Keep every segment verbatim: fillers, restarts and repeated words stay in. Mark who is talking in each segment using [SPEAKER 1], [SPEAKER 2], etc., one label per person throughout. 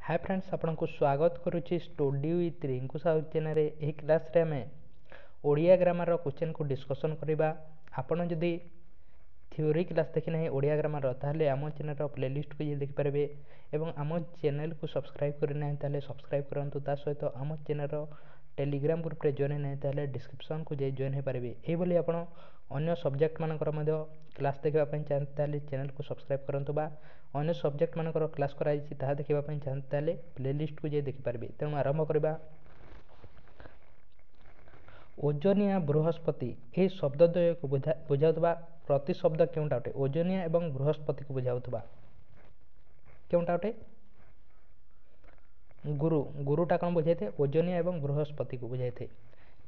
[SPEAKER 1] ହାଏ friends, ଆପଣଙ୍କୁ ସ୍ୱାଗତ କରୁଛି ଷ୍ଟଡି ୱିଥ୍ ରିଙ୍କୁ ସାହୁ ଚ୍ୟାନେଲରେ। ଏହି କ୍ଲାସ୍ରେ ଆମେ ଓଡ଼ିଆ ଗ୍ରାମାରର କ୍ୱେଶ୍ଚନ୍କୁ ଡିସ୍କସନ୍ କରିବା। ଆପଣ ଯଦି ଥିଓରି କ୍ଲାସ୍ ଦେଖିନାହିଁ ଓଡ଼ିଆ ଗ୍ରାମାରର, ତାହେଲେ ଆମ ଚ୍ୟାନେଲର ପ୍ଲେଲିଷ୍ଟକୁ ଯାଇ ଦେଖିପାରିବେ ଏବଂ ଆମ ଚ୍ୟାନେଲକୁ ସବସ୍କ୍ରାଇବ୍ କରିନାହିଁ ତାହେଲେ ସବସ୍କ୍ରାଇବ୍ କରନ୍ତୁ। ତା ସହିତ ଆମ ଚ୍ୟାନେଲର ଟେଲିଗ୍ରାମ ଗ୍ରୁପରେ ଜଏନ୍ ନାହିଁ ତାହେଲେ ଡିସ୍କ୍ରିପ୍ସନ୍କୁ ଯାଇ ଜଏନ୍ ହୋଇପାରିବେ। ଏହିଭଳି ଆପଣ ଅନ୍ୟ ସବଜେକ୍ଟମାନଙ୍କର ମଧ୍ୟ କ୍ଲାସ୍ ଦେଖିବା ପାଇଁ ଚାହାନ୍ତି ତାହେଲେ ଚ୍ୟାନେଲକୁ ସବସ୍କ୍ରାଇବ୍ କରନ୍ତୁ, ବା ଅନ୍ୟ ସବଜେକ୍ଟମାନଙ୍କର କ୍ଲାସ୍ କରାଯାଇଛି ତାହା ଦେଖିବା ପାଇଁ ଚାହାନ୍ତି ତାହେଲେ ପ୍ଲେଲିଷ୍ଟକୁ ଯାଇ ଦେଖିପାରିବେ। ତେଣୁ ଆରମ୍ଭ କରିବା। ଓଜନିଆ ବୃହସ୍ପତି ଏହି ଶବ୍ଦଦ୍ୱୟକୁ ବୁଝାଉଥିବା ପ୍ରତିଶବ୍ଦ କେଉଁଟା ଅଟେ? ଓଜନିଆ ଏବଂ ବୃହସ୍ପତିକୁ ବୁଝାଉଥିବା କେଉଁଟା ଅଟେ? ଗୁରୁ। ଗୁରୁଟା କ'ଣ ବୁଝାଇଥାଏ? ଓଜନିଆ ଏବଂ ବୃହସ୍ପତିକୁ ବୁଝାଇଥାଏ।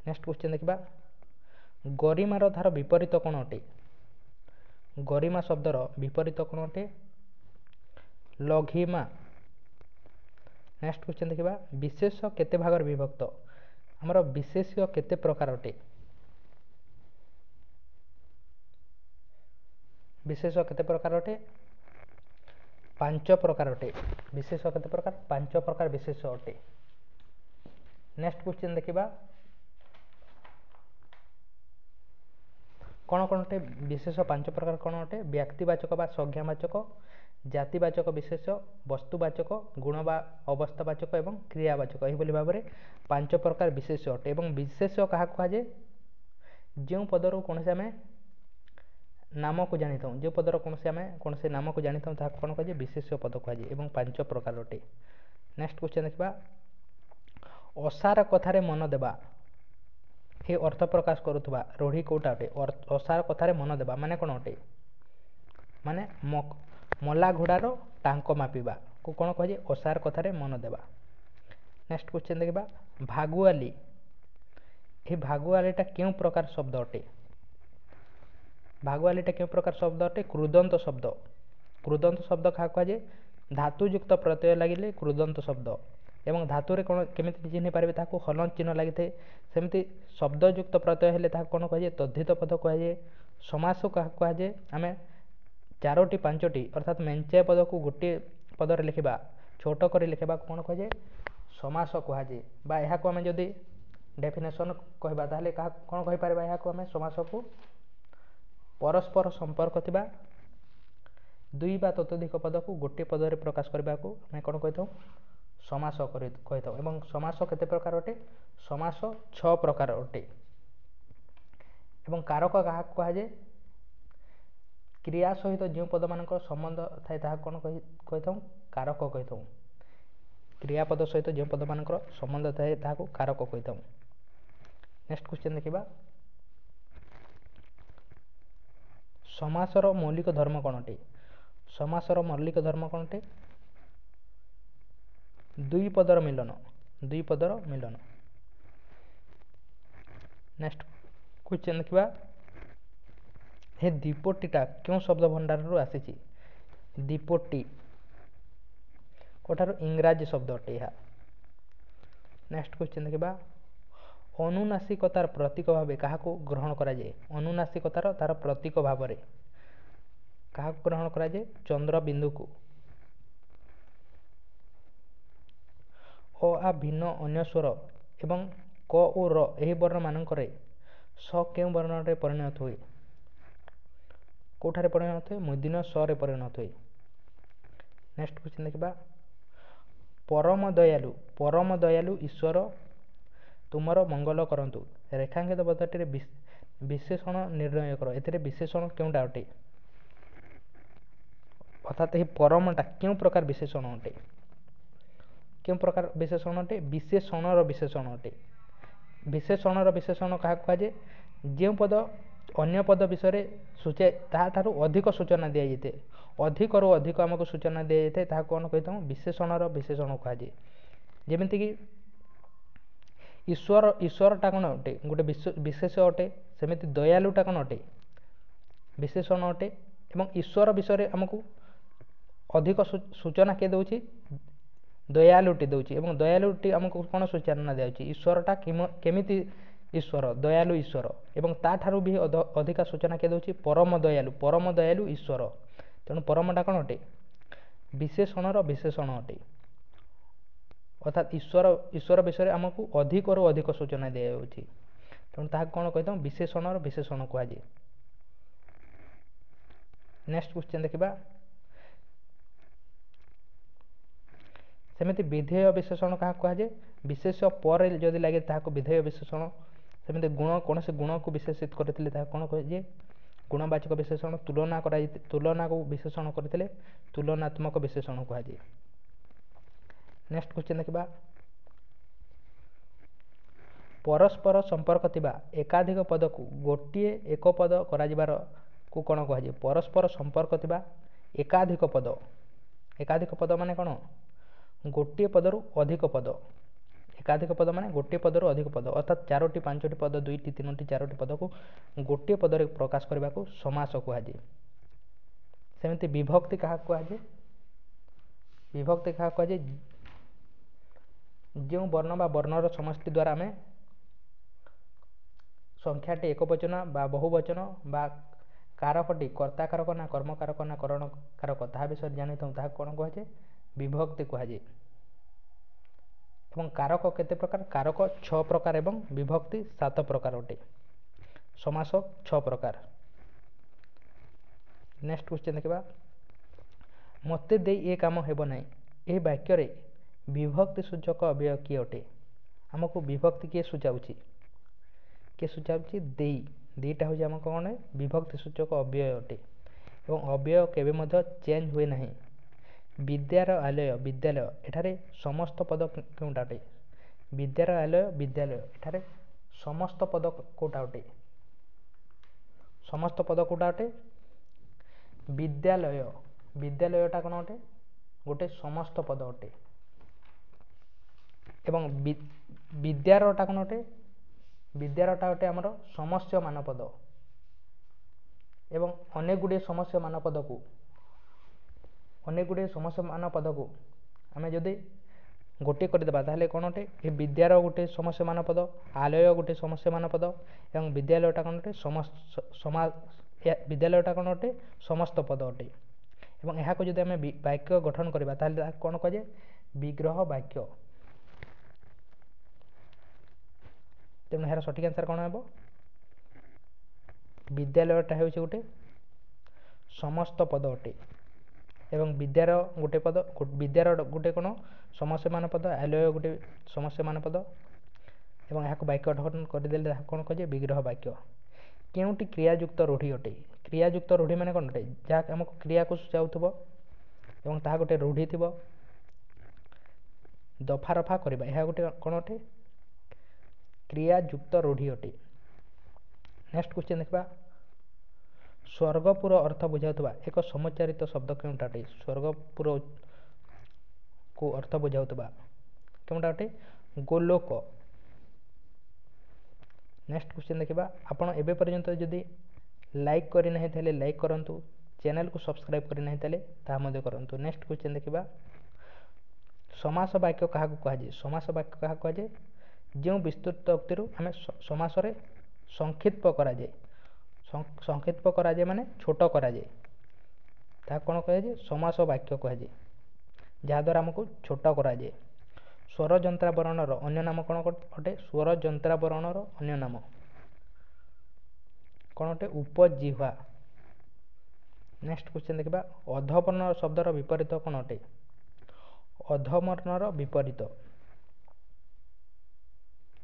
[SPEAKER 1] ନେକ୍ସଟ କ୍ୱେଶ୍ଚନ୍ ଦେଖିବା। ଗରିମାର ତାର ବିପରୀତ କ'ଣ ଅଟେ? ଗରିମା ଶବ୍ଦର ବିପରୀତ କ'ଣ ଅଟେ? ଲଘିମା। ନେକ୍ସଟ କ୍ୱେଶ୍ଚନ୍ ଦେଖିବା। ବିଶେଷ କେତେ ଭାଗରେ ବିଭକ୍ତ? ଆମର ବିଶେଷ୍ୟ କେତେ ପ୍ରକାର ଅଟେ? ବିଶେଷ କେତେ ପ୍ରକାର ଅଟେ? ପାଞ୍ଚ ପ୍ରକାର ଅଟେ। ବିଶେଷ କେତେ ପ୍ରକାର? ପାଞ୍ଚ ପ୍ରକାର ବିଶେଷ ଅଟେ। ନେକ୍ସଟ କ୍ୱେଶ୍ଚନ୍ ଦେଖିବା। କ'ଣ କ'ଣ ଅଟେ ବିଶେଷ? ପାଞ୍ଚ ପ୍ରକାର କ'ଣ ଅଟେ? ବ୍ୟକ୍ତିବାଚକ ବା ସଂଜ୍ଞାବାଚକ, ଜାତିବାଚକ ବିଶେଷ, ବସ୍ତୁବାଚକ, ଗୁଣ ବା ଅବସ୍ଥାବାଚକ ଏବଂ କ୍ରିୟାବାଚକ। ଏହିଭଳି ଭାବରେ ପାଞ୍ଚ ପ୍ରକାର ବିଶେଷ ଅଟେ। ଏବଂ ବିଶେଷ କାହାକୁ କୁହାଯାଏ? ଯେଉଁ ପଦରୁ କୌଣସି ଆମେ ନାମକୁ ଜାଣିଥାଉ, ଯେଉଁ ପଦର କୌଣସି ଆମେ କୌଣସି ନାମକୁ ଜାଣିଥାଉ ତାହାକୁ କ'ଣ କୁହାଯାଏ? ବିଶେଷ୍ୟ ପଦ କୁହାଯାଏ ଏବଂ ପାଞ୍ଚ ପ୍ରକାର ଅଟେ। ନେକ୍ସଟ କ୍ୱେଶ୍ଚନ୍ ଦେଖିବା। ଅସାର କଥାରେ ମନ ଦେବା ଏ ଅର୍ଥ ପ୍ରକାଶ କରୁଥିବା ରୂଢ଼ି କେଉଁଟା ଅଟେ? ଅସାର କଥାରେ ମନ ଦେବା ମାନେ କ'ଣ ଅଟେ? ମାନେ ମଲା ଘୋଡ଼ାର ଟାଙ୍କ ମାପିବାକୁ କ'ଣ କୁହାଯାଏ? ଅସାର କଥାରେ ମନ ଦେବା। ନେକ୍ସଟ କ୍ୱେଶ୍ଚନ୍ ଦେଖିବା। ଭାଗୁଆଲି, ଏହି ଭାଗୁଆଲିଟା କେଉଁ ପ୍ରକାର ଶବ୍ଦ ଅଟେ? ଭାଗୁଆଲିଟା କେଉଁ ପ୍ରକାର ଶବ୍ଦ ଅଟେ? କୃଦନ୍ତ ଶବ୍ଦ। କୃଦନ୍ତ ଶବ୍ଦ କାହାକୁ କୁହାଯାଏ? ଧାତୁଯୁକ୍ତ ପ୍ରତ୍ୟୟ ଲାଗିଲେ କୃଦନ୍ତ ଶବ୍ଦ। ଏବଂ ଧାତୁରେ କ'ଣ କେମିତି ଚିହ୍ନି ପାରିବେ? ତାହାକୁ ହଲନ୍ତ ଚିହ୍ନ ଲାଗିଥାଏ। ସେମିତି ଶବ୍ଦଯୁକ୍ତ ପ୍ରତ୍ୟୟ ହେଲେ ତାହାକୁ କ'ଣ କୁହାଯାଏ? ତଦ୍ଧିତ ପଦ କୁହାଯାଏ। ସମାସ କାହାକୁ କୁହାଯାଏ? ଆମେ ଚାରୋଟି ପାଞ୍ଚଟି ଅର୍ଥାତ୍ ମେଞ୍ଚାଏ ପଦକୁ ଗୋଟିଏ ପଦରେ ଲେଖିବା, ଛୋଟ କରି ଲେଖିବାକୁ କ'ଣ କୁହାଯାଏ? ସମାସ କୁହାଯାଏ। ବା ଏହାକୁ ଆମେ ଯଦି ଡେଫିନେସନ୍ କହିବା ତାହେଲେ କାହା କ'ଣ କହିପାରିବା? ଏହାକୁ ଆମେ ସମାସକୁ ପରସ୍ପର ସମ୍ପର୍କ ଥିବା ଦୁଇ ବା ତତୋଧିକ ପଦକୁ ଗୋଟିଏ ପଦରେ ପ୍ରକାଶ କରିବାକୁ ଆମେ କ'ଣ କହିଥାଉ? ସମାସ କରି କହିଥାଉ। ଏବଂ ସମାସ କେତେ ପ୍ରକାର ଅଟେ? ସମାସ ଛଅ ପ୍ରକାର ଅଟେ। ଏବଂ କାରକ କାହାକୁ କୁହାଯାଏ? କ୍ରିୟା ସହିତ ଯେଉଁ ପଦମାନଙ୍କର ସମ୍ବନ୍ଧ ଥାଏ ତାହାକୁ କ'ଣ କହିଥାଉ? କାରକ କହିଥାଉ। କ୍ରିୟାପଦ ସହିତ ଯେଉଁ ପଦମାନଙ୍କର ସମ୍ବନ୍ଧ ଥାଏ ତାହାକୁ କାରକ କହିଥାଉ। ନେକ୍ସଟ କ୍ୱେଶ୍ଚନ୍ ଦେଖିବା। ସମାସର ମୌଳିକ ଧର୍ମ କ'ଣ ଅଟେ? ସମାସର ମୌଳିକ ଧର୍ମ କ'ଣ ଅଟେ? ଦୁଇ ପଦର ମିଳନ। ଦୁଇ ପଦର ମିଳନ। ନେକ୍ସଟ କ୍ୱେଶ୍ଚନ୍ ଦେଖିବା। ହେ ଦ୍ୱୀପଟିଟା କେଉଁ ଶବ୍ଦ ଭଣ୍ଡାରରୁ ଆସିଛି? ଦ୍ୱୀପଟି କେଉଁଠାରୁ? ଇଂରାଜୀ ଶବ୍ଦ ଅଟେ ଏହା। ନେକ୍ସଟ କ୍ୱେଶ୍ଚନ୍ ଦେଖିବା। ଅନୁନାସିକତାର ପ୍ରତୀକ ଭାବେ କାହାକୁ ଗ୍ରହଣ କରାଯାଏ? ଅନୁନାସିକତାର ତାର ପ୍ରତୀକ ଭାବରେ କାହାକୁ ଗ୍ରହଣ କରାଯାଏ? ଚନ୍ଦ୍ରବିନ୍ଦୁକୁ। ଅ ଆ ଭିନ୍ନ ଅନ୍ୟ ସ୍ୱର ଏବଂ କ ଓ ର ଏହି ବର୍ଣ୍ଣମାନଙ୍କରେ ସ କେଉଁ ବର୍ଣ୍ଣରେ ପରିଣତ ହୁଏ? କେଉଁଠାରେ ପରିଣତ ହୁଏ? ମୂର୍ଦ୍ଧନ୍ୟ ସ ରେ ପରିଣତ ହୁଏ। ନେକ୍ସଟ କ୍ୱେଶ୍ଚନ୍ ଦେଖିବା। ପରମ ଦୟାଲୁ, ପରମ ଦୟାଲୁ ଈଶ୍ୱର ତୁମର ମଙ୍ଗଳ କରନ୍ତୁ। ରେଖାଙ୍କିତ ପଦଟିରେ ବିଶେଷଣ ନିର୍ଣ୍ଣୟ କର। ଏଥିରେ ବିଶେଷଣ କେଉଁଟା ଅଟେ? ଅର୍ଥାତ୍ ଏହି ପରମଟା କେଉଁ ପ୍ରକାର ବିଶେଷଣ ଅଟେ? କେଉଁ ପ୍ରକାର ବିଶେଷଣ ଅଟେ? ବିଶେଷଣର ବିଶେଷଣ ଅଟେ। ବିଶେଷଣର ବିଶେଷଣ କାହାକୁ କୁହାଯାଏ? ଯେଉଁ ପଦ ଅନ୍ୟ ପଦ ବିଷୟରେ ସୂଚାଏ ତାହାଠାରୁ ଅଧିକ ସୂଚନା ଦିଆଯାଇଥାଏ, ଅଧିକରୁ ଅଧିକ ଆମକୁ ସୂଚନା ଦିଆଯାଇଥାଏ, ତାହାକୁ କ'ଣ କହିଥାଉ? ବିଶେଷଣର ବିଶେଷଣ କୁହାଯାଏ। ଯେମିତିକି ଈଶ୍ୱର, ଈଶ୍ୱରଟା କ'ଣ ଅଟେ? ଗୋଟେ ବିଶେଷ ଅଟେ। ସେମିତି ଦୟାଲୁଟା କ'ଣ ଅଟେ? ବିଶେଷଣ ଅଟେ। ଏବଂ ଈଶ୍ୱର ବିଷୟରେ ଆମକୁ ଅଧିକ ସୂଚନା କିଏ ଦେଉଛି? ଦୟାଲୁଟି ଦେଉଛି। ଏବଂ ଦୟାଲୁଟି ଆମକୁ କ'ଣ ସୂଚନା ଦେଉଛି? ଈଶ୍ୱରଟା କେମିତି ଈଶ୍ୱର? ଦୟାଲୁ ଈଶ୍ୱର। ଏବଂ ତାଠାରୁ ବି ଅଧିକା ସୂଚନା କିଏ ଦେଉଛି? ପରମ ଦୟାଲୁ, ପରମ ଦୟାଲୁ ଈଶ୍ୱର। ତେଣୁ ପରମଟା କ'ଣ ଅଟେ? ବିଶେଷଣର ବିଶେଷଣ ଅଟେ। ଅର୍ଥାତ୍ ଈଶ୍ୱର ଈଶ୍ୱର ବିଷୟରେ ଆମକୁ ଅଧିକରୁ ଅଧିକ ସୂଚନା ଦିଆଯାଉଛି, ତେଣୁ ତାହାକୁ କ'ଣ କହିଥାଉ? ବିଶେଷଣର ବିଶେଷଣ କୁହାଯାଏ। ନେକ୍ସଟ କ୍ୱେଶ୍ଚନ୍ ଦେଖିବା। ସେମିତି ବିଧେୟ ବିଶେଷଣ କାହାକୁ କୁହାଯାଏ? ବିଶେଷ ପରେ ଯଦି ଲାଗେ ତାହାକୁ ବିଧେୟ ବିଶେଷଣ। ସେମିତି ଗୁଣ, କୌଣସି ଗୁଣକୁ ବିଶେଷିତ କରିଥିଲେ ତାହାକୁ କ'ଣ କୁହାଯାଏ? ଗୁଣବାଚକ ବିଶେଷଣ। ତୁଳନା କରାଯାଇ ତୁଳନାକୁ ବିଶେଷଣ କରିଥିଲେ ତୁଳନାତ୍ମକ ବିଶେଷଣ କୁହାଯାଏ। ନେକ୍ସଟ କ୍ୱେଶ୍ଚନ୍ ଦେଖିବା। ପରସ୍ପର ସମ୍ପର୍କ ଥିବା ଏକାଧିକ ପଦକୁ ଗୋଟିଏ ଏକ ପଦ କରାଯିବାରକୁ କ'ଣ କୁହାଯାଏ? ପରସ୍ପର ସମ୍ପର୍କ ଥିବା ଏକାଧିକ ପଦ, ଏକାଧିକ ପଦ ମାନେ କ'ଣ? ଗୋଟିଏ ପଦରୁ ଅଧିକ ପଦ। ଏକାଧିକ ପଦ ମାନେ ଗୋଟିଏ ପଦରୁ ଅଧିକ ପଦ, ଅର୍ଥାତ୍ ଚାରୋଟି ପାଞ୍ଚଟି ପଦ, ଦୁଇଟି ତିନୋଟି ଚାରୋଟି ପଦକୁ ଗୋଟିଏ ପଦରେ ପ୍ରକାଶ କରିବାକୁ ସମାସ କୁହାଯାଏ। ସେମିତି ବିଭକ୍ତି କାହାକୁ କୁହାଯାଏ? ବିଭକ୍ତି କାହାକୁ କୁହାଯାଏ? ଯେଉଁ ବର୍ଣ୍ଣ ବା ବର୍ଣ୍ଣର ସମଷ୍ଟି ଦ୍ୱାରା ଆମେ ସଂଖ୍ୟାଟି ଏକବଚନ ବା ବହୁବଚନ ବା କାରକଟି କର୍ତ୍ତା କାରକ ନା କର୍ମକାରକ ନା କରଣ କାରକ ତାହା ବିଷୟରେ ଜାଣିଥାଉ, ତାହାକୁ କ'ଣ କୁହାଯାଏ? ବିଭକ୍ତି କୁହାଯାଏ। ଏବଂ କାରକ କେତେ ପ୍ରକାର? କାରକ ଛଅ ପ୍ରକାର ଏବଂ ବିଭକ୍ତି ସାତ ପ୍ରକାର ଅଟେ। ସମାସ ଛଅ ପ୍ରକାର। ନେକ୍ସଟ କ୍ୱେଶ୍ଚନ୍ ଦେଖିବା। ମୋତେ ଦେଇ ଏ କାମ ହେବ ନାହିଁ, ଏହି ବାକ୍ୟରେ ବିଭକ୍ତି ସୂଚକ ଅବ୍ୟୟ କିଏ ଅଟେ? ଆମକୁ ବିଭକ୍ତି କିଏ ସୂଚାଉଛି? କିଏ ସୂଚାଉଛି? ଦେଇ। ଦୁଇଟା ହେଉଛି ଆମ କ'ଣ? ବିଭକ୍ତି ସୂଚକ ଅବ୍ୟୟ ଅଟେ ଏବଂ ଅବ୍ୟୟ କେବେ ମଧ୍ୟ ଚେଞ୍ଜ ହୁଏ ନାହିଁ। ବିଦ୍ୟାର ଆଲୟ ବିଦ୍ୟାଳୟ, ଏଠାରେ ସମସ୍ତ ପଦ କେଉଁଟା ଅଟେ? ବିଦ୍ୟାର ଆଲୟ ବିଦ୍ୟାଳୟ, ଏଠାରେ ସମସ୍ତ ପଦ କେଉଁଟା ଅଟେ? ସମସ୍ତ ପଦ କେଉଁଟା ଅଟେ? ବିଦ୍ୟାଳୟ। ବିଦ୍ୟାଳୟଟା କ'ଣ ଅଟେ? ଗୋଟେ ସମସ୍ତ ପଦ ଅଟେ। ଏବଂ ବିଦ୍ୟାରଟା କ'ଣ ଅଟେ? ବିଦ୍ୟାରଟା ଅଟେ ଆମର ସମସ୍ୟମାନ ପଦ। ଏବଂ ଅନେକ ଗୁଡ଼ିଏ ସମସ୍ୟମାନ ପଦକୁ ଅନେକ ଗୁଡ଼ିଏ ସମସ୍ୟମାନ ପଦକୁ ଆମେ ଯଦି ଗୋଟିଏ କରିଦେବା ତାହେଲେ କ'ଣ ଅଟେ? ଏ ବିଦ୍ୟାର ଗୋଟେ ସମସ୍ୟମାନ ପଦ, ଆଲୟ ଗୋଟେ ସମସ୍ୟମାନ ପଦ ଏବଂ ବିଦ୍ୟାଳୟଟା କ'ଣ ଅଟେ? ସମା ବିଦ୍ୟାଳୟଟା କ'ଣ ଅଟେ? ସମସ୍ତ ପଦ ଅଟେ। ଏବଂ ଏହାକୁ ଯଦି ଆମେ ବାକ୍ୟ ଗଠନ କରିବା ତାହେଲେ ତାହାକୁ କ'ଣ କୁହାଯାଏ? ବିଗ୍ରହ ବାକ୍ୟ। ତେଣୁ ଏହାର ସଠିକ୍ ଆନ୍ସର୍ କ'ଣ ହେବ? ବିଦ୍ୟାଳୟଟା ହେଉଛି ଗୋଟେ ସମସ୍ତ ପଦ ଅଟେ ଏବଂ ବିଦ୍ୟାର ଗୋଟେ ପଦ, ବିଦ୍ୟାର ଗୋଟେ କ'ଣ ସମସ୍ୟମାନ ପଦ, ଆଲୟ ଗୋଟେ ସମସ୍ୟମାନ ପଦ ଏବଂ ଏହାକୁ ବାକ୍ୟ ଗଠନ କରିଦେଲେ ତାହାକୁ କ'ଣ କୁହାଯାଏ? ବିଗ୍ରହ ବାକ୍ୟ। କେଉଁଟି କ୍ରିୟାଯୁକ୍ତ ରୂଢ଼ି ଅଟେ? କ୍ରିୟାଯୁକ୍ତ ରୂଢ଼ି ମାନେ କ'ଣ ଅଟେ? ଯାହା ଆମକୁ କ୍ରିୟାକୁ ସୂଚାଉଥିବ ଏବଂ ତାହା ଗୋଟେ ରୂଢ଼ି ଥିବ। ଦଫା ରଫା କରିବା, ଏହା ଗୋଟେ କ'ଣ ଅଟେ? କ୍ରିୟାଯୁକ୍ତ ରୂଢ଼ି ଅଟେ। ନେକ୍ସଟ କ୍ୱେଶ୍ଚନ୍ ଦେଖିବା। ସ୍ୱର୍ଗପୁର ଅର୍ଥ ବୁଝାଉଥିବା ଏକ ସମୁଚ୍ଚାରିତ ଶବ୍ଦ କେଉଁଟା ଅଟେ? ସ୍ୱର୍ଗପୁର କୁ ଅର୍ଥ ବୁଝାଉଥିବା କେଉଁଟା ଅଟେ? ଗୋଲୋକ। ନେକ୍ସଟ କ୍ୱେଶ୍ଚନ୍ ଦେଖିବା। ଆପଣ ଏବେ ପର୍ଯ୍ୟନ୍ତ ଯଦି ଲାଇକ୍ କରିନାହିଁ ତାହେଲେ ଲାଇକ୍ କରନ୍ତୁ, ଚ୍ୟାନେଲକୁ ସବସ୍କ୍ରାଇବ୍ କରିନାହିଁ ତାହେଲେ ତାହା ମଧ୍ୟ କରନ୍ତୁ। ନେକ୍ସଟ କ୍ୱେଶ୍ଚନ୍ ଦେଖିବା। ସମାସ ବାକ୍ୟ କାହାକୁ କୁହାଯାଏ? ସମାସ ବାକ୍ୟ କାହାକୁ କୁହାଯାଏ? ଯେଉଁ ବିସ୍ତୃତ ଉକ୍ତିରୁ ଆମେ ସମାସରେ ସଂକ୍ଷିପ୍ତ କରାଯାଏ, ସଂକ୍ଷିପ୍ତ କରାଯାଏ ମାନେ ଛୋଟ କରାଯାଏ, ତାହା କ'ଣ କୁହାଯାଏ? ସମାସ ବାକ୍ୟ କୁହାଯାଏ, ଯାହାଦ୍ୱାରା ଆମକୁ ଛୋଟ କରାଯାଏ। ସ୍ୱର ଯନ୍ତ୍ରାବରଣର ଅନ୍ୟ ନାମ କ'ଣ ଅଟେ? ସ୍ୱର ଯନ୍ତ୍ରାବରଣର ଅନ୍ୟ ନାମ କ'ଣ ଅଟେ? ଉପଜିହ୍ୱା। ନେକ୍ସଟ କ୍ୱେଶ୍ଚନ୍ ଦେଖିବା। ଅଧବର୍ଣ୍ଣ ଶବ୍ଦର ବିପରୀତ କ'ଣ ଅଟେ? ଅଧବର୍ଣ୍ଣର ବିପରୀତ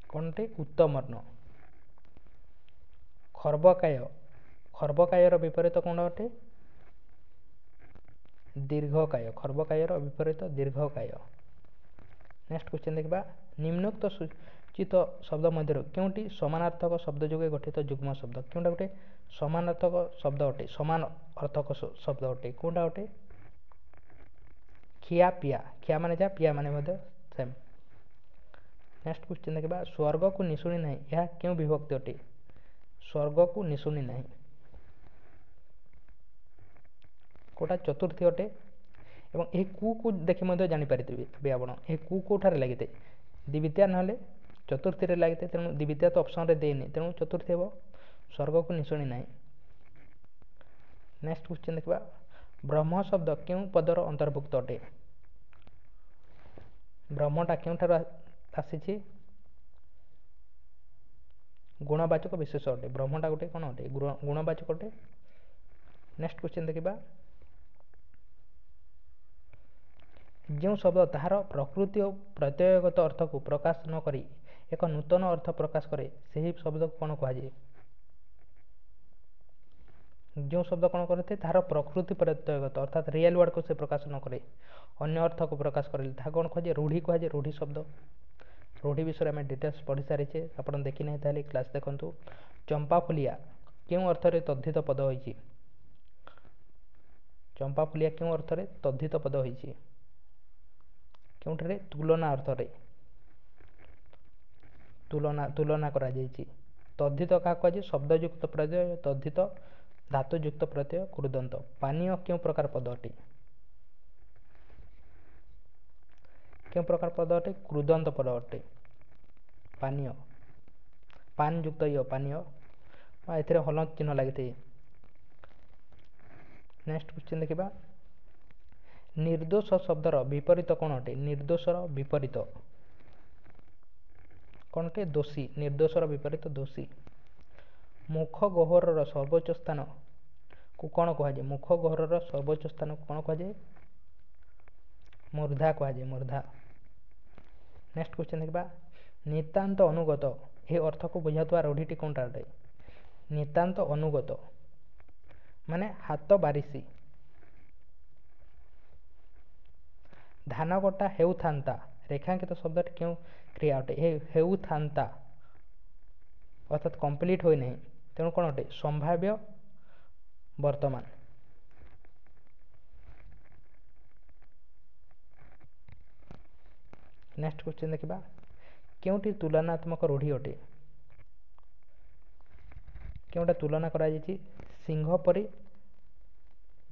[SPEAKER 1] କ'ଣ ଅଟେ? ଉତ୍ତମର୍ଣ୍ଣ। ଖର୍ବକାୟ, ଖର୍ବକାୟର ବିପରୀତ କ'ଣ ଅଟେ? ଦୀର୍ଘକାୟ। ଖର୍ବକାୟର ବିପରୀତ ଦୀର୍ଘକାୟ। ନେକ୍ସଟ କ୍ୱେଶ୍ଚନ୍ ଦେଖିବା। ନିମ୍ନୋକ୍ତ ସୂଚିତ ଶବ୍ଦ ମଧ୍ୟରୁ କେଉଁଟି ସମାନାର୍ଥକ ଶବ୍ଦ ଯୋଗେ ଗଠିତ ଯୁଗ୍ମ ଶବ୍ଦ? କେଉଁଟା ଗୋଟେ ସମାନାର୍ଥକ ଶବ୍ଦ ଅଟେ? ସମାନ ଅର୍ଥକ ଶବ୍ଦ ଅଟେ କେଉଁଟା ଅଟେ? ଖିଆ ପିଆ। ଖିଆ ମାନେ ଯାହା, ପିଆ ମାନେ ମଧ୍ୟ ସେମ୍। ନେକ୍ସଟ କ୍ୱେଶ୍ଚନ୍ ଦେଖିବା। ସ୍ୱର୍ଗକୁ ନିଶୁଣି ନାହିଁ, ଏହା କେଉଁ ବିଭକ୍ତି ଅଟେ? ସ୍ୱର୍ଗକୁ ନିଶୁଣି ନାହିଁ କେଉଁଟା? ଚତୁର୍ଥୀ ଅଟେ। ଏବଂ ଏହି କୁ ଦେଖି ମଧ୍ୟ ଜାଣିପାରିଥିବେ ଏବେ ଆପଣ, ଏହି କୁ କେଉଁଠାରେ ଲାଗିଥାଏ? ଦ୍ୱିତୀୟା ନହେଲେ ଚତୁର୍ଥୀରେ ଲାଗିଥାଏ, ତେଣୁ ଦ୍ୱିତୀୟା ତ ଅପସନ୍ରେ ଦେଇନି, ତେଣୁ ଚତୁର୍ଥୀ ହେବ। ସ୍ୱର୍ଗକୁ ନିଶୁଣି ନାହିଁ। ନେକ୍ସଟ କ୍ୱେଶ୍ଚନ୍ ଦେଖିବା। ବ୍ରହ୍ମ ଶବ୍ଦ କେଉଁ ପଦର ଅନ୍ତର୍ଭୁକ୍ତ ଅଟେ? ବ୍ରହ୍ମଟା କେଉଁଠାରୁ ଆସିଛି? ଗୁଣବାଚକ ବିଶେଷ ଅଟେ। ବ୍ରହ୍ମଟା ଗୋଟେ କ'ଣ ଅଟେ? ଗୁଣବାଚକ ଅଟେ। ନେକ୍ସଟ କ୍ୱେଶ୍ଚନ୍ ଦେଖିବା। ଯେଉଁ ଶବ୍ଦ ତାହାର ପ୍ରକୃତି ଓ ପ୍ରତ୍ୟୟଗତ ଅର୍ଥକୁ ପ୍ରକାଶ ନ କରି ଏକ ନୂତନ ଅର୍ଥ ପ୍ରକାଶ କରେ, ସେହି ଶବ୍ଦକୁ କ'ଣ କୁହାଯାଏ? ଯେଉଁ ଶବ୍ଦ କ'ଣ କରିଥାଏ, ତାହାର ପ୍ରକୃତି ପ୍ରତ୍ୟୟଗତ ଅର୍ଥାତ୍ ରିଏଲ୍ ୱାର୍ଡ଼କୁ ସେ ପ୍ରକାଶ ନ କରେ, ଅନ୍ୟ ଅର୍ଥକୁ ପ୍ରକାଶ କରେ, ତାହା କ'ଣ କୁହାଯାଏ? ରୂଢ଼ି କୁହାଯାଏ। ରୂଢ଼ି ଶବ୍ଦ, ରୂଢ଼ି ବିଷୟରେ ଆମେ ଡିଟେଲ୍ସ ପଢ଼ି ସାରିଛେ। ଆପଣ ଦେଖିନାହିଁ ତାହେଲେ କ୍ଲାସ୍ ଦେଖନ୍ତୁ। ଚମ୍ପାଫୁଲିଆ କେଉଁ ଅର୍ଥରେ ତଦ୍ଧିତ ପଦ ହୋଇଛି? ଚମ୍ପାଫୁଲିଆ କେଉଁ ଅର୍ଥରେ ତଦ୍ଧିତ ପଦ ହୋଇଛି? କେଉଁଠାରେ? ତୁଳନା ଅର୍ଥରେ ତୁଳନା ତୁଳନା କରାଯାଇଛି। ତଦ୍ଧିତ କାହାକୁ କୁହାଯାଏ? ଶବ୍ଦଯୁକ୍ତ ପ୍ରତ୍ୟୟ ତଦ୍ଧିତ, ଧାତୁଯୁକ୍ତ ପ୍ରତ୍ୟୟ କୃଦନ୍ତ। ପାନୀୟ କେଉଁ ପ୍ରକାର ପଦ ଅଟେ? କେଉଁ ପ୍ରକାର ପଦ ଅଟେ? କୃଦନ୍ତ ପଦ ଅଟେ। ପାନୀୟ, ପାନ ଯୁକ୍ତ ଇୟ, ପାନୀୟ ବା ଏଥିରେ ହଲନ୍ତ ଚିହ୍ନ ଲାଗିଥାଏ। ନେକ୍ସଟ କ୍ୱେଶ୍ଚନ୍ ଦେଖିବା। ନିର୍ଦ୍ଦୋଷ ଶବ୍ଦର ବିପରୀତ କ'ଣ ଅଟେ? ନିର୍ଦ୍ଦୋଷର ବିପରୀତ କ'ଣ ଅଟେ? ଦୋଷୀ। ନିର୍ଦ୍ଦୋଷର ବିପରୀତ ଦୋଷୀ। ମୁଖ ଗହ୍ୱରର ସର୍ବୋଚ୍ଚ ସ୍ଥାନକୁ କ'ଣ କୁହାଯାଏ? ମୁଖ ଗହ୍ୱରର ସର୍ବୋଚ୍ଚ ସ୍ଥାନକୁ କ'ଣ କୁହାଯାଏ? ମୂର୍ଦ୍ଧା କୁହାଯାଏ, ମୂର୍ଦ୍ଧା। ନେକ୍ସଟ କ୍ୱେଶ୍ଚନ୍ ଦେଖିବା। ନିତାନ୍ତ ଅନୁଗତ ଏହି ଅର୍ଥକୁ ବୁଝାଉଥିବା ରୂଢ଼ିଟି କେଉଁଟା ଅଟେ? ନିତାନ୍ତ ଅନୁଗତ ମାନେ ହାତ ବାରିସି। ଧାନ କଟା ହେଉଥାନ୍ତା ରେଖାଙ୍କିତ ଶବ୍ଦଟି କେଉଁ କ୍ରିୟା ଅଟେ? ହେଉଥାନ୍ତା ଅର୍ଥାତ୍ କମ୍ପ୍ଲିଟ୍ ହୋଇନାହିଁ, ତେଣୁ କ'ଣ ଅଟେ? ସମ୍ଭାବ୍ୟ ବର୍ତ୍ତମାନ। ନେକ୍ସଟ କ୍ୱେଶ୍ଚନ୍ ଦେଖିବା। କେଉଁଟି ତୁଳନାତ୍ମକ ରୂଢ଼ି ଅଟେ? କେଉଁଟା ତୁଳନା କରାଯାଇଛି? ସିଂହ ପରି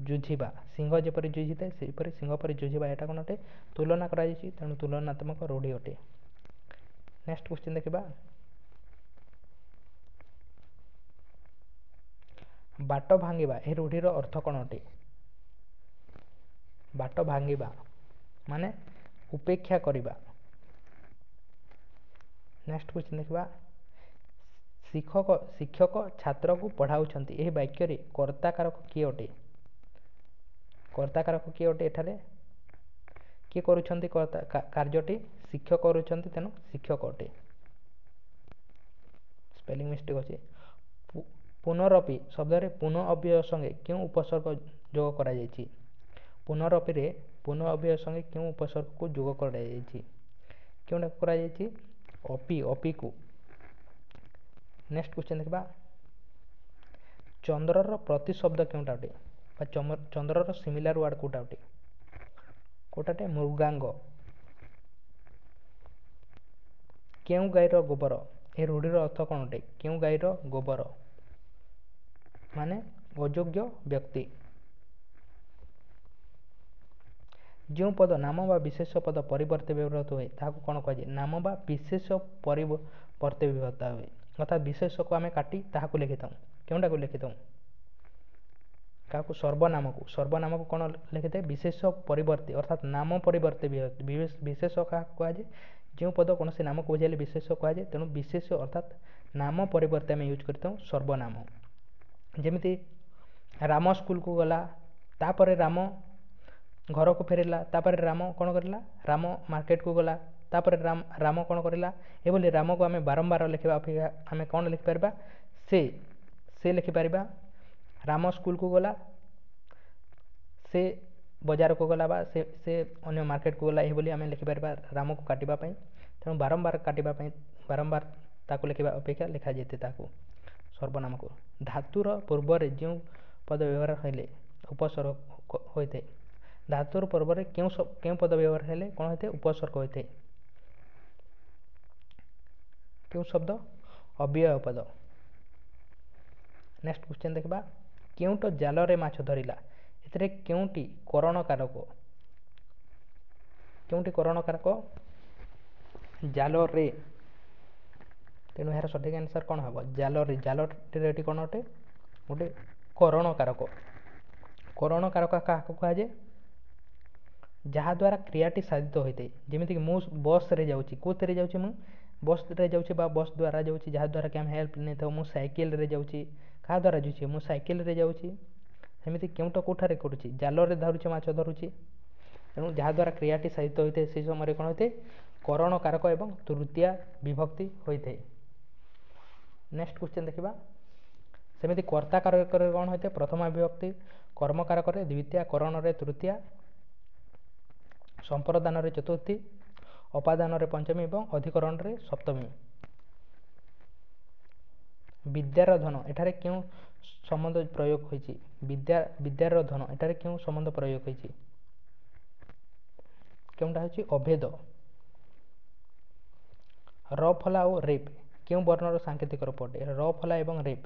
[SPEAKER 1] ଯୁଝିବା। ସିଂହ ଯେପରି ଯୁଝିଥାଏ ସେହିପରି ସିଂହ ପରି ଯୁଝିବା, ଏଇଟା କ'ଣ ଅଟେ? ତୁଳନା କରାଯାଇଛି, ତେଣୁ ତୁଳନାତ୍ମକ ରୂଢ଼ି ଅଟେ। ନେକ୍ସଟ କ୍ୱେଶ୍ଚନ୍ ଦେଖିବା। ବାଟ ଭାଙ୍ଗିବା ଏହି ରୂଢ଼ିର ଅର୍ଥ କ'ଣ ଅଟେ? ବାଟ ଭାଙ୍ଗିବା ମାନେ ଉପେକ୍ଷା କରିବା। ନେକ୍ସଟ କ୍ୱେଶ୍ଚନ୍ ଦେଖିବା। ଶିକ୍ଷକ ଶିକ୍ଷକ ଛାତ୍ରକୁ ପଢ଼ାଉଛନ୍ତି ଏହି ବାକ୍ୟରେ କର୍ତ୍ତାକାରକ କିଏ ଅଟେ? କର୍ତ୍ତାକାରକ କିଏ ଅଟେ? ଏଠାରେ କିଏ କରୁଛନ୍ତି କର୍ତ୍ତା କାର୍ଯ୍ୟଟି? ଶିକ୍ଷକ କରୁଛନ୍ତି, ତେଣୁ ଶିକ୍ଷକ ଅଟେ। ସ୍ପେଲିଂ ମିଷ୍ଟେକ୍ ଅଛି। ପୁନରପି ଶବ୍ଦରେ ପୁନଃ ଅବ୍ୟୟ ସଙ୍ଗେ କେଉଁ ଉପସର୍ଗ ଯୋଗ କରାଯାଇଛି? ପୁନରପିରେ ପୁନଃ ଅବ୍ୟୟ ସଙ୍ଗେ କେଉଁ ଉପସର୍ଗକୁ ଯୋଗ କରାଯାଇଛି? କେଉଁଟାକୁ କରାଯାଇଛି? ଅପି, ଅପିକୁ। ନେକ୍ସଟ କ୍ୱେଶ୍ଚନ୍ ଦେଖିବା। ଚନ୍ଦ୍ରର ପ୍ରତିଶବ୍ଦ କେଉଁଟା ଅଟେ? ବା ଚନ୍ଦ୍ରର ସିମିଲାର ୱାର୍ଡ଼ କେଉଁଟା ଅଟେ? କେଉଁଟା ଅଟେ? ମୃଗାଙ୍ଗ। କେଉଁ ଗାଈର ଗୋବର ଏ ରୂଢ଼ିର ଅର୍ଥ କ'ଣ ଅଟେ? କେଉଁ ଗାଈର ଗୋବର ମାନେ ଅଯୋଗ୍ୟ ବ୍ୟକ୍ତି। ଯେଉଁ ପଦ ନାମ ବା ବିଶେଷ ପଦ ପରିବର୍ତ୍ତେ ବ୍ୟବହୃତ ହୁଏ ତାହାକୁ କ'ଣ କୁହାଯାଏ? ନାମ ବା ବିଶେଷ ପରିବର୍ତ୍ତେ ବ୍ୟବହୃତ ହୁଏ, ଅର୍ଥାତ୍ ବିଶେଷକୁ ଆମେ କାଟି ତାହାକୁ ଲେଖିଥାଉ। କେଉଁଟାକୁ ଲେଖିଥାଉ? କାହାକୁ? ସର୍ବନାମକୁ। ସର୍ବନାମକୁ କ'ଣ ଲେଖିଥାଏ? ବିଶେଷ ପରିବର୍ତ୍ତେ, ଅର୍ଥାତ୍ ନାମ ପରିବର୍ତ୍ତେ। ବିଶେଷ କାହାକୁ କୁହାଯାଏ? ଯେଉଁ ପଦ କୌଣସି ନାମକୁ ବୁଝାଇଲେ ବିଶେଷ କୁହାଯାଏ, ତେଣୁ ବିଶେଷ ଅର୍ଥାତ୍ ନାମ ପରିବର୍ତ୍ତେ ଆମେ ୟୁଜ୍ କରିଥାଉ ସର୍ବନାମ। ଯେମିତି ରାମ ସ୍କୁଲକୁ ଗଲା, ତାପରେ ରାମ ଘରକୁ ଫେରିଲା, ତାପରେ ରାମ କ'ଣ କରିଲା? ରାମ ମାର୍କେଟକୁ ଗଲା, ତାପରେ ରାମ ରାମ କ'ଣ କରିଲା। ଏଭଳି ରାମକୁ ଆମେ ବାରମ୍ବାର ଲେଖିବା ଅପେକ୍ଷା ଆମେ କ'ଣ ଲେଖିପାରିବା? ସେ ସେ ଲେଖିପାରିବା। ରାମ ସ୍କୁଲକୁ ଗଲା, ସେ ବଜାରକୁ ଗଲା ବା ସେ ସେ ଅନ୍ୟ ମାର୍କେଟକୁ ଗଲା, ଏହିଭଳି ଆମେ ଲେଖିପାରିବା ରାମକୁ କାଟିବା ପାଇଁ। ତେଣୁ ବାରମ୍ବାର କାଟିବା ପାଇଁ ବାରମ୍ବାର ତାକୁ ଲେଖିବା ଅପେକ୍ଷା ଲେଖାଯାଇଥାଏ ତାକୁ ସର୍ବନାମକୁ। ଧାତୁର ପୂର୍ବରେ ଯେଉଁ ପଦ ବ୍ୟବହାର ହେଲେ ଉପସର୍ଗ ହୋଇଥାଏ? ଧାତୁର ପୂର୍ବରେ କେଉଁ କେଉଁ ପଦ ବ୍ୟବହାର ହେଲେ କ'ଣ ହୋଇଥାଏ? ଉପସର୍ଗ ହୋଇଥାଏ। କେଉଁ ଶବ୍ଦ? ଅବ୍ୟୟ ପଦ। ନେକ୍ସଟ କ୍ୱେଶ୍ଚନ୍ ଦେଖିବା। କେଉଁଟ ଜାଲରେ ମାଛ ଧରିଲା ଏଥିରେ କେଉଁଟି କରଣ କାରକ? କେଉଁଟି କରଣ କାରକ? ଜାଲରେ। ତେଣୁ ଏହାର ସଠିକ୍ ଆନ୍ସର୍ କ'ଣ ହେବ? ଜାଲରେ। ଜାଲଟିରେ ଏଠି କ'ଣ ଅଟେ? ଗୋଟେ କରଣ କାରକ। କରଣ କାରକ କାହାକୁ କୁହାଯାଏ? ଯାହାଦ୍ୱାରା କ୍ରିୟାଟି ସାଧିତ ହୋଇଥାଏ। ଯେମିତିକି ମୁଁ ବସ୍ରେ ଯାଉଛି, କେଉଁଥିରେ ଯାଉଛି? ମୁଁ ବସ୍ରେ ଯାଉଛି ବା ବସ୍ ଦ୍ୱାରା ଯାଉଛି, ଯାହାଦ୍ୱାରା କି ଆମେ ହେଲ୍ପ ନେଇଥାଉ। ମୁଁ ସାଇକେଲରେ ଯାଉଛି, କାହା ଦ୍ୱାରା ଯାଉଛି? ମୁଁ ସାଇକେଲରେ ଯାଉଛି। ସେମିତି କେଉଁଟା କେଉଁଠାରେ କରୁଛି? ଜାଲରେ ଧରୁଛି, ମାଛ ଧରୁଛି। ତେଣୁ ଯାହାଦ୍ୱାରା କ୍ରିୟାଟି ସାଧିତ ହୋଇଥାଏ ସେହି ସମୟରେ କ'ଣ ହୋଇଥାଏ? କରଣ କାରକ ଏବଂ ତୃତୀୟା ବିଭକ୍ତି ହୋଇଥାଏ। ନେକ୍ସଟ କ୍ୱେଶ୍ଚନ୍ ଦେଖିବା। ସେମିତି କର୍ତ୍ତା କାରକରେ କ'ଣ ହୋଇଥାଏ? ପ୍ରଥମା ବିଭକ୍ତି, କର୍ମକାରକରେ ଦ୍ୱିତୀୟା, କରଣରେ ତୃତୀୟା, ସମ୍ପ୍ରଦାନରେ ଚତୁର୍ଥୀ, ଅପାଦାନରେ ପଞ୍ଚମୀ ଏବଂ ଅଧିକରଣରେ ସପ୍ତମୀ। ବିଦ୍ୟାର ଧନ, ଏଠାରେ କେଉଁ ସମ୍ବନ୍ଧ ପ୍ରୟୋଗ ହୋଇଛି? ବିଦ୍ୟା, ବିଦ୍ୟାର ଧନ, ଏଠାରେ କେଉଁ ସମ୍ବନ୍ଧ ପ୍ରୟୋଗ ହୋଇଛି? କେଉଁଟା ହେଉଛି? ଅଭେଦ। ର ଫଲା ଓ ରେପ୍ କେଉଁ ବର୍ଣ୍ଣର ସାଙ୍କେତିକ ରୂପ ଅଟେ? ର ଫଲା ଏବଂ ରେପ୍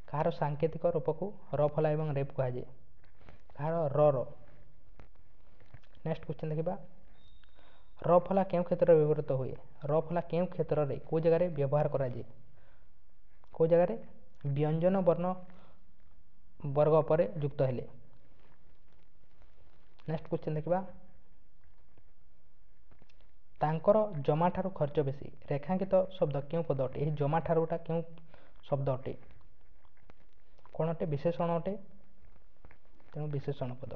[SPEAKER 1] କାହାର ସାଙ୍କେତିକ ରୂପକୁ ର ଫଲା ଏବଂ ରେପ୍ କୁହାଯାଏ? କାହାର? ର ର। ନେକ୍ସଟ କ୍ୱେଶ୍ଚନ୍ ଦେଖିବା। ର ଫଲା କେଉଁ କ୍ଷେତ୍ରରେ ବ୍ୟବହୃତ ହୁଏ? ର ଫଲା କେଉଁ କ୍ଷେତ୍ରରେ, କେଉଁ ଜାଗାରେ ବ୍ୟବହାର କରାଯାଏ? କେଉଁ ଜାଗାରେ? ବ୍ୟଞ୍ଜନ ବର୍ଣ୍ଣ ବର୍ଗ ପରେ ଯୁକ୍ତ ହେଲେ। ନେକ୍ସଟ କ୍ୱେଶ୍ଚନ୍ ଦେଖିବା। ତାଙ୍କର ଜମାଠାରୁ ଖର୍ଚ୍ଚ ବେଶୀ, ରେଖାଙ୍କିତ ଶବ୍ଦ କେଉଁ ପଦ ଅଟେ? ଏହି ଜମାଠାରୁଟା କେଉଁ ଶବ୍ଦ ଅଟେ? କ'ଣ ଅଟେ? ବିଶେଷଣ ଅଟେ, ତେଣୁ ବିଶେଷଣ ପଦ।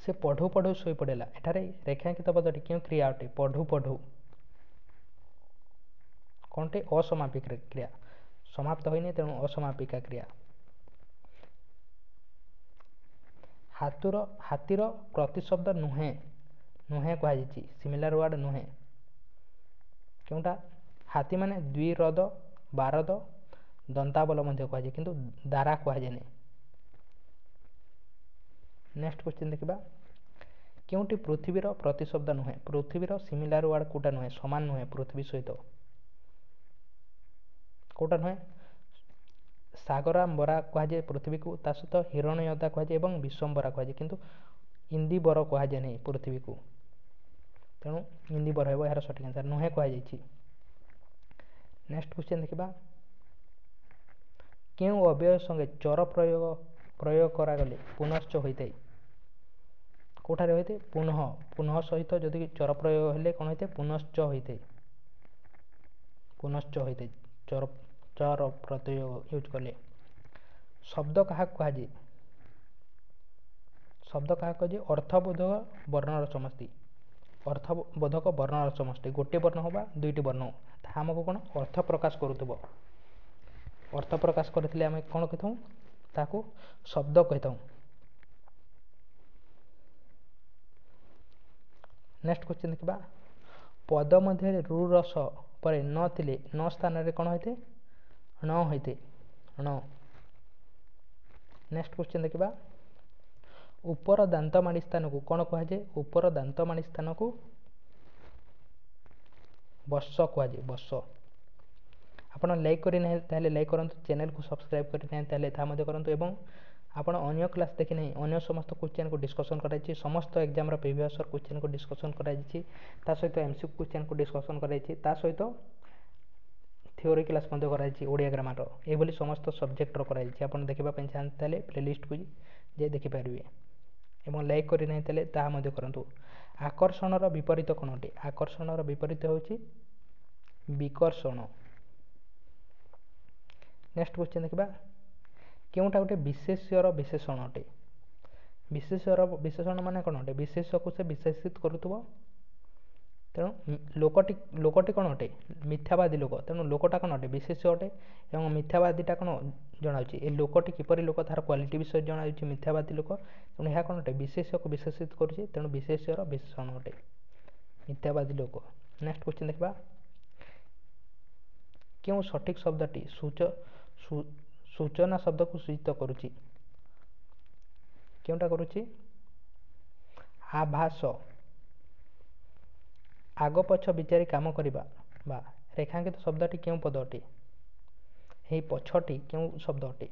[SPEAKER 1] ସେ ପଢ଼ୁ ପଢ଼ୁ ଶୋଇପଡ଼ିଲା, ଏଠାରେ ରେଖାଙ୍କିତ ପଦଟି କେଉଁ କ୍ରିୟା ଅଟେ? ପଢ଼ୁ ପଢ଼ୁ କ'ଣ ଅଟେ? ଅସମାପିକା କ୍ରିୟା, ସମାପ୍ତ ହୋଇନି, ତେଣୁ ଅସମାପିକା କ୍ରିୟା। ହାତୁର, ହାତୀର ପ୍ରତିଶବ୍ଦ ନୁହେଁ, ନୁହେଁ କୁହାଯାଇଛି, ସିମିଲାର ୱାର୍ଡ଼ ନୁହେଁ କେଉଁଟା? ହାତୀ ମାନେ ଦ୍ୱିରଦ, ବାରଦ, ଦନ୍ତାବଲ ମଧ୍ୟ କୁହାଯାଏ, କିନ୍ତୁ ଦାରା କୁହାଯାଏନି। ନେକ୍ସଟ କ୍ୱେଶ୍ଚନ୍ ଦେଖିବା। କେଉଁଟି ପୃଥିବୀର ପ୍ରତିଶବ୍ଦ ନୁହେଁ? ପୃଥିବୀର ସିମିଲାର ୱାର୍ଡ଼ କେଉଁଟା ନୁହେଁ, ସମାନ ନୁହେଁ ପୃଥିବୀ ସହିତ କେଉଁଟା ନୁହେଁ? ସାଗରାମ୍ବରା କୁହାଯାଏ ପୃଥିବୀକୁ, ତା ସହିତ ହିରଣ୍ୟଦା କୁହାଯାଏ ଏବଂ ବିଶ୍ୱମ୍ବରା କୁହାଯାଏ, କିନ୍ତୁ ଇନ୍ଦିବର କୁହାଯାଏ ନାହିଁ ପୃଥିବୀକୁ। ତେଣୁ ଇନ୍ଦିବର ହେବ ଏହାର ସଠିକ୍ ଆନ୍ସର୍, ନୁହେଁ କୁହାଯାଇଛି। ନେକ୍ସଟ କ୍ୱେଶ୍ଚନ୍ ଦେଖିବା। କେଉଁ ଅବ୍ୟୟ ସଙ୍ଗେ ଚର ପ୍ରୟୋଗ ପ୍ରୟୋଗ କରାଗଲେ ପୁନଶ୍ଚ ହୋଇଥାଏ? କେଉଁଠାରେ ହୋଇଥାଏ? ପୁନଃ, ପୁନଃ ସହିତ ଯଦି ଚର ପ୍ରୟୋଗ ହେଲେ କ'ଣ ହୋଇଥାଏ? ପୁନଶ୍ଚ ହୋଇଥାଏ, ପୁନଶ୍ଚ ହୋଇଥାଏ ଚର, ଚର ପ୍ରତ୍ୟୟ ୟୁଜ୍ କଲେ। ଶବ୍ଦ କାହାକୁ କୁହାଯାଏ? ଶବ୍ଦ କାହାକୁ କୁହାଯାଏ? ଅର୍ଥବୋଧକ ବର୍ଣ୍ଣର ସମଷ୍ଟି, ଅର୍ଥବୋଧକ ବର୍ଣ୍ଣର ସମଷ୍ଟି। ଗୋଟିଏ ବର୍ଣ୍ଣ ହେଉ ବା ଦୁଇଟି ବର୍ଣ୍ଣ ହେଉ, ତାହା ଆମକୁ କ'ଣ ଅର୍ଥ ପ୍ରକାଶ କରୁଥିବ। ଅର୍ଥ ପ୍ରକାଶ କରିଥିଲେ ଆମେ କ'ଣ କହିଥାଉ? ତାକୁ ଶବ୍ଦ କହିଥାଉ। ନେକ୍ସଟ କ୍ୱେଶ୍ଚନ୍ ଦେଖିବା। ପଦ ମଧ୍ୟରେ ରୁ ରସ ପରେ ନ ଥିଲେ ନ ସ୍ଥାନରେ କ'ଣ ହୋଇଥାଏ? ଣ ହୋଇଥାଏ, ଣ। ନେକ୍ସଟ କ୍ୱେଶ୍ଚନ୍ ଦେଖିବା। ଉପର ଦାନ୍ତମାଡ଼ି ସ୍ଥାନକୁ କ'ଣ କୁହାଯାଏ? ଉପର ଦାନ୍ତମାଡ଼ି ସ୍ଥାନକୁ ବର୍ଷ କୁହାଯାଏ, ବର୍ଷ। ଆପଣ ଲାଇକ୍ କରିନାହିଁ ତାହେଲେ ଲାଇକ୍ କରନ୍ତୁ, ଚ୍ୟାନେଲକୁ ସବସ୍କ୍ରାଇବ୍ କରିନାହିଁ ତାହେଲେ ତାହା ମଧ୍ୟ କରନ୍ତୁ, ଏବଂ ଆପଣ ଅନ୍ୟ କ୍ଲାସ୍ ଦେଖି ନାହିଁ, ଅନ୍ୟ ସମସ୍ତ କ୍ୱେଶ୍ଚନ୍କୁ ଡିସ୍କସନ୍ କରାଯାଇଛି, ସମସ୍ତ ଏକ୍ଜାମ୍ର ପ୍ରିଭିୟସ୍ କ୍ୱେଶ୍ଚନ୍କୁ ଡିସ୍କସନ୍ କରାଯାଇଛି, ତା ସହିତ ଏମ୍ ସି କ୍ୱେଶ୍ଚନ୍କୁ ଡିସ୍କସନ୍ କରାଯାଇଛି, ତା ସହିତ ଥିଓରି କ୍ଲାସ୍ ମଧ୍ୟ କରାଯାଇଛି ଓଡ଼ିଆ ଗ୍ରାମାରର। ଏଇଭଳି ସମସ୍ତ ସବଜେକ୍ଟର କରାଯାଇଛି। ଆପଣ ଦେଖିବା ପାଇଁ ଚାହାନ୍ତି ତାହେଲେ ପ୍ଲେଲିଷ୍ଟକୁ ଯାଇ ଦେଖିପାରିବେ, ଏବଂ ଲାଇକ୍ କରିନାହିଁ ତାହେଲେ ତାହା ମଧ୍ୟ କରନ୍ତୁ। ଆକର୍ଷଣର ବିପରୀତ କ'ଣ ଅଟେ? ଆକର୍ଷଣର ବିପରୀତ ହେଉଛି ବିକର୍ଷଣ। ନେକ୍ସଟ କ୍ୱେଶ୍ଚନ୍ ଦେଖିବା। କେଉଁଟା ଗୋଟେ ବିଶେଷ୍ୟର ବିଶେଷଣ ଅଟେ? ବିଶେଷ୍ୟର ବିଶେଷଣ ମାନେ କ'ଣ ଅଟେ? ବିଶେଷ୍ୟକୁ ସେ ବିଶେଷିତ କରୁଥିବ। ତେଣୁ ଲୋକଟି, ଲୋକଟି କ'ଣ ଅଟେ? ମିଥ୍ୟାବାଦୀ ଲୋକ, ତେଣୁ ଲୋକଟା କ'ଣ ଅଟେ? ବିଶେଷ୍ୟ ଅଟେ। ଏବଂ ମିଥ୍ୟାବାଦୀଟା କ'ଣ ଜଣାଉଛି? ଏ ଲୋକଟି କିପରି ଲୋକ ତାର କ୍ୱାଲିଟି ବିଷୟରେ ଜଣାଉଛି, ମିଥ୍ୟାବାଦୀ ଲୋକ। ତେଣୁ ଏହା କ'ଣ ଅଟେ? ବିଶେଷ୍ୟକୁ ବିଶେଷିତ କରୁଛି, ତେଣୁ ବିଶେଷ୍ୟର ବିଶେଷଣ ଅଟେ ମିଥ୍ୟାବାଦୀ ଲୋକ। ନେକ୍ସଟ କ୍ୱେଶ୍ଚନ୍ ଦେଖିବା। କେଉଁ ସଠିକ୍ ଶବ୍ଦଟି ସୂଚ ସୂଚନା ଶବ୍ଦକୁ ସୂଚିତ କରୁଛି? କେଉଁଟା କରୁଛି? ଆଭାସ। ଆଗ ପଛ ବିଚାରି କାମ କରିବା ବା ରେଖାଙ୍କିତ ଶବ୍ଦଟି କେଉଁ ପଦ ଅଟେ? ଏହି ପଛଟି କେଉଁ ଶବ୍ଦ ଅଟେ?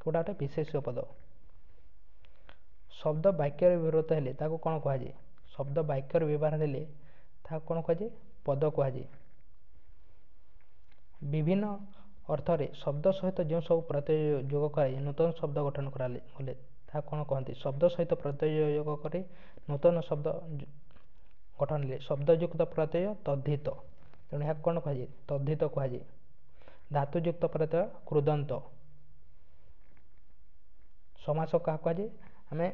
[SPEAKER 1] କେଉଁଟା ଅଟେ? ବିଶେଷ୍ୟ ପଦ। ଶବ୍ଦ ବାକ୍ୟରେ ବ୍ୟବହୃତ ହେଲେ ତାକୁ କ'ଣ କୁହାଯାଏ? ଶବ୍ଦ ବାକ୍ୟରେ ବ୍ୟବହାର ହେଲେ ତାହାକୁ କ'ଣ କୁହାଯାଏ? ପଦ କୁହାଯାଏ। ବିଭିନ୍ନ ଅର୍ଥରେ ଶବ୍ଦ ସହିତ ଯେଉଁ ସବୁ ପ୍ରତ୍ୟୟ ଯୋଗ କରାଯାଏ ନୂତନ ଶବ୍ଦ ଗଠନ କରାଗଲେ ତାହା କ'ଣ କହନ୍ତି? ଶବ୍ଦ ସହିତ ପ୍ରତ୍ୟୟ ଯୋଗ କରି ନୂତନ ଶବ୍ଦ ଗଠନ ହେଲେ ଶବ୍ଦଯୁକ୍ତ ପ୍ରତ୍ୟୟ ତଦ୍ଧିତ। ତେଣୁ ଏହାକୁ କ'ଣ କୁହାଯାଏ? ତଦ୍ଧିତ କୁହାଯାଏ। ଧାତୁଯୁକ୍ତ ପ୍ରତ୍ୟୟ କୃଦନ୍ତ। ସମାସ କାହା କୁହାଯାଏ? ଆମେ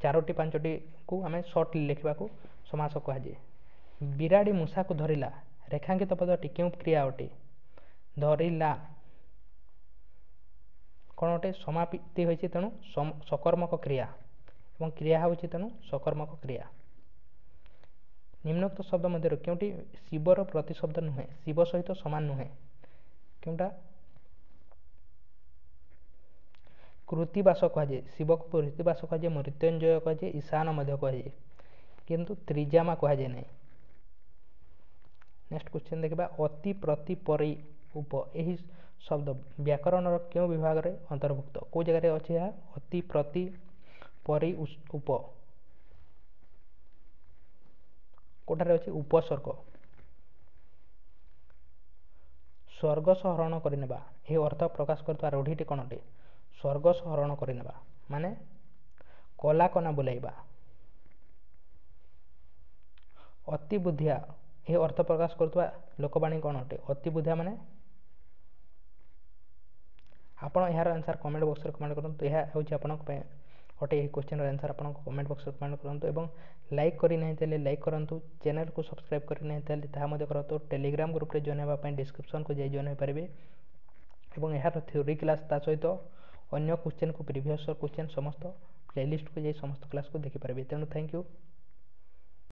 [SPEAKER 1] ଚାରୋଟି ପାଞ୍ଚଟିକୁ ଆମେ ସର୍ଟଲି ଲେଖିବାକୁ ସମାସ କୁହାଯାଏ। ବିରାଡ଼ି ମୂଷାକୁ ଧରିଲା, ରେଖାଙ୍କିତ ପଦଟି କେଉଁ କ୍ରିୟା ଅଟେ? ଧରିଲା କ'ଣ ଅଟେ? ସମାପ୍ତି ହୋଇଛି, ତେଣୁ ସକର୍ମକ କ୍ରିୟା, ଏବଂ କ୍ରିୟା ହେଉଛି ତେଣୁ ସକର୍ମକ କ୍ରିୟା। ନିମ୍ନୋକ୍ତ ଶବ୍ଦ ମଧ୍ୟରୁ କେଉଁଟି ଶିବର ପ୍ରତିଶବ୍ଦ ନୁହେଁ? ଶିବ ସହିତ ସମାନ ନୁହେଁ କେଉଁଟା? କୃତିବାସ କୁହାଯାଏ, ଶିବକୁ କୃତିବାସ କୁହାଯାଏ, ମୃତ୍ୟୁଞ୍ଜୟ କୁହାଯାଏ, ଈଶାନ ମଧ୍ୟ କୁହାଯାଏ, କିନ୍ତୁ ତ୍ରିଜାମା କୁହାଯାଏ ନାହିଁ। ନେକ୍ସଟ କ୍ୱେଶ୍ଚନ୍ ଦେଖିବା। ଅତି, ପ୍ରତି, ପରି, ଉପ ଏହି ଶବ୍ଦ ବ୍ୟାକରଣର କେଉଁ ବିଭାଗରେ ଅନ୍ତର୍ଭୁକ୍ତ? କେଉଁ ଜାଗାରେ ଅଛି ଏହା? ଅତି, ପ୍ରତି, ପରି, ଉପ କେଉଁଠାରେ ଅଛି? ଉପସର୍ଗ। ସ୍ୱର୍ଗସ ହରଣ କରିନେବା ଏହି ଅର୍ଥ ପ୍ରକାଶ କରୁଥିବା ରୂଢ଼ିଟି କ'ଣ ଅଟେ? ସ୍ୱର୍ଗସ ହରଣ କରିନେବା ମାନେ କଲାକନା ବୁଲାଇବା। ଅତି ବୁଦ୍ଧିଆ ଏହି ଅର୍ଥ ପ୍ରକାଶ କରୁଥିବା ଲୋକବାଣୀ କ'ଣ ଅଟେ? ଅତି ବୁଦ୍ଧିଆ ମାନେ ଆପଣ ଏହାର ଆନ୍ସର୍ କମେଣ୍ଟ ବକ୍ସରେ କମେଣ୍ଟ କରନ୍ତୁ। ଏହା ହେଉଛି ଆପଣଙ୍କ ପାଇଁ ଅଟେ ଏହି କ୍ୱେଶ୍ଚନ୍ର ଆନ୍ସର୍। ଆପଣଙ୍କ କମେଣ୍ଟ ବକ୍ସରେ କମେଣ୍ଟ କରନ୍ତୁ ଏବଂ ଲାଇକ୍ କରିନାହିଁ ତାହେଲେ ଲାଇକ୍ କରନ୍ତୁ, ଚ୍ୟାନେଲକୁ ସବସ୍କ୍ରାଇବ୍ କରିନାହିଁ ତାହେଲେ ତାହା ମଧ୍ୟ କରନ୍ତୁ। ଟେଲିଗ୍ରାମ ଗ୍ରୁପରେ ଜଏନ୍ ହେବା ପାଇଁ ଡିସ୍କ୍ରିପ୍ସନ୍କୁ ଯାଇ ଜଏନ୍ ହୋଇପାରିବେ ଏବଂ ଏହାର ଥିଓରି କ୍ଲାସ୍ ତା ସହିତ ଅନ୍ୟ କ୍ୱେଶ୍ଚନ୍କୁ, ପ୍ରିଭିୟସ୍ କ୍ୱେଶ୍ଚନ୍ ସମସ୍ତ ପ୍ଲେଲିଷ୍ଟକୁ ଯାଇ ସମସ୍ତ କ୍ଲାସ୍କୁ ଦେଖିପାରିବେ। ତେଣୁ thank you.